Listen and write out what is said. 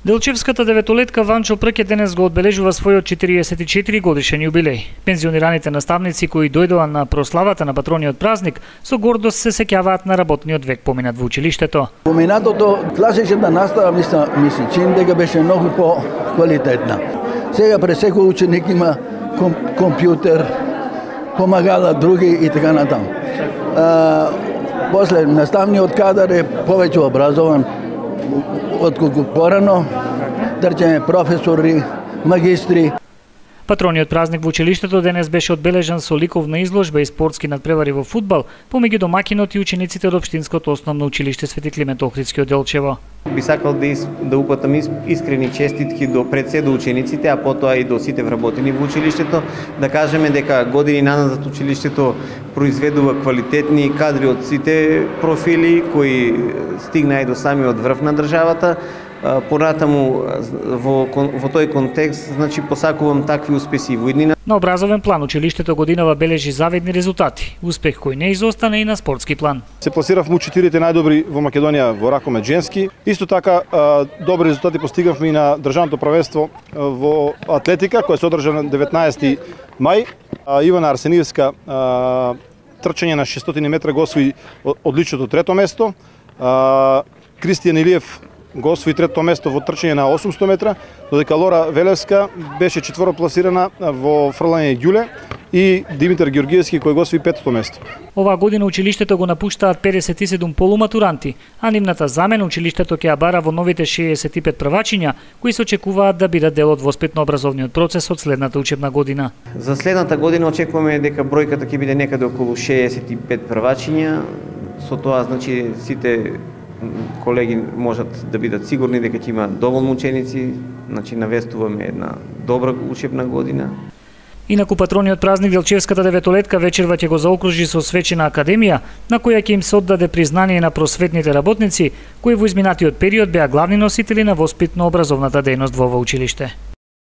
Делчевската деветолетка Ванчо Прке денес го одбележува својот 44 годишен јубилеј. Пензионираните наставници кои дојдоа на прославата на патрониот празник со гордост се сеќаваат на работниот век поминат во училиштето. Поминатото класичната настава ми се чини дека беше многу по-квалитетна. Сега пред секој ученик има компјутер, помагала други и така натаму. После наставниот кадар е повеќе образован отколку порано, речеме професори, магистри. Патрониот празник во училиштето денес беше одбележан со ликовна изложба и спортски надпревари во фудбал помеѓу домакинот и учениците од општинското основно училиште Свети Климент Охридски од Делчево. Би сакал да упатам искрени честитки до пред се до учениците, а потоа и до сите вработени во училиштето, да кажеме дека години наназад училиштето произведува квалитетни кадри од сите профили кои стигнаа и до самиот врв на државата. Понатаму во тој контекст, значи посакувам такви успеси во иднина. На образовен план училиштето годинава бележи завидни резултати, успех кој не изостана и на спортски план. Се пласиравме у 4 најдобри во Македонија во ракомет женски. Исто така добри резултати постигавме и на државното првенство во атлетика кој се одржа на 19 мај. Ивана Арсениевска трчање на 600 метра го освои одличното трето место. Кристијан Илиев го освои трето место во трчање на 800 метра, додека Лора Велевска беше четворопласирана во фрлање ѓуле и Димитар Георгиевски кој го освои петото место. Оваа година училиштето го напуштаат 57 полуматуранти, а нивната замена училиштето ќе ја бара во новите 65 првачиња кои се очекуваат да бидат дел од воспитно-образовниот процес од следната учебна година. За следната година очекуваме дека бројката ќе биде некаде околу 65 првачиња. Со тоа значи сите колеги можат да бидат сигурни дека ќе има доволно ученици, значи навестуваме една добра учебна година. Инаку патрониот празник Делчевската деветолетка вечерва ќе го заокружи со свечена академија, на која ќе им се оддаде признание на просветните работници кои во изминатиот период беа главни носители на воспитно-образовната дејност во ова училиште.